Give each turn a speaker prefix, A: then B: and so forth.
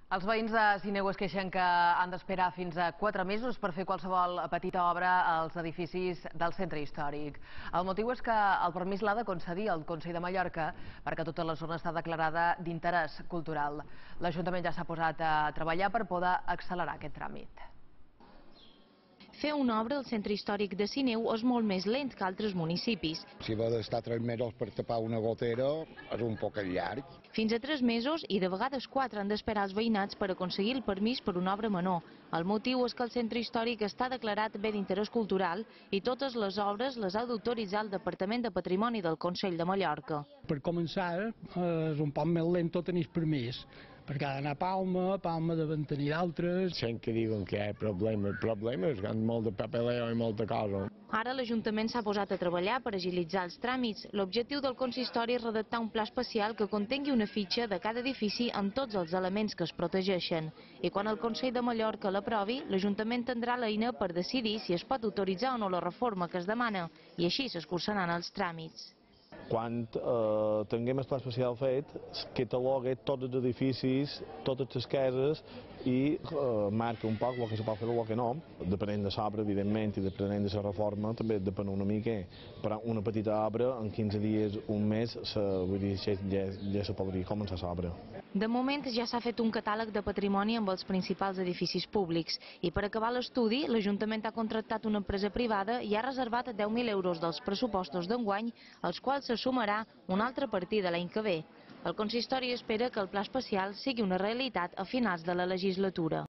A: Els veïns de Sineu es queixen que han d'esperar fins a 4 mesos per fer qualsevol petita obra als edificis del centre històric. El motiu és que el permís l'ha de concedir el Consell de Mallorca perquè tota la zona està declarada d'interès cultural. L'Ajuntament ja s'ha posat a treballar per poder accelerar aquest tràmit.
B: Fer una obra al centre històric de Sineu és molt més lent que altres municipis.
C: Si va d'estar 3 mesos per tapar una gotera, és un poc llarg.
B: Fins a 3 mesos i de vegades 4 han d'esperar els veïnats per aconseguir el permís per una obra menor. El motiu és que el centre històric està declarat bé d'interès cultural i totes les obres les ha d'autoritzar el Departament de Patrimoni del Consell de Mallorca.
D: Per començar, és un poc més lent tenir permís, perquè ha d'anar a Palma devem tenir d'altres.
E: Sent que diuen que hi ha problemes, que han molt de papeleo i molta cosa.
B: Ara l'Ajuntament s'ha posat a treballar per agilitzar els tràmits. L'objectiu del consistori és redactar un pla especial que contengui una fitxa de cada edifici amb tots els elements que es protegeixen. I quan el Consell de Mallorca l'aprovi, l'Ajuntament tindrà l'eina per decidir si es pot autoritzar o no la reforma que es demana, i així s'escurçaran els tràmits.
E: Quan tinguem el pla especial fet, cataloga tots els edificis, totes les cases i marca un poc el que se pot fer i el que no. Depenent de l'obra, evidentment, i depenent de la reforma, també depèn una mica. Però una petita obra, en 15 dies, un mes, vull dir, ja se podria començar l'obra.
B: De moment ja s'ha fet un catàleg de patrimoni amb els principals edificis públics i per acabar l'estudi l'Ajuntament ha contractat una empresa privada i ha reservat 10.000 euros dels pressupostos d'enguany, als quals se sumarà una altra partida l'any que ve. El consistori espera que el pla especial sigui una realitat a finals de la legislatura.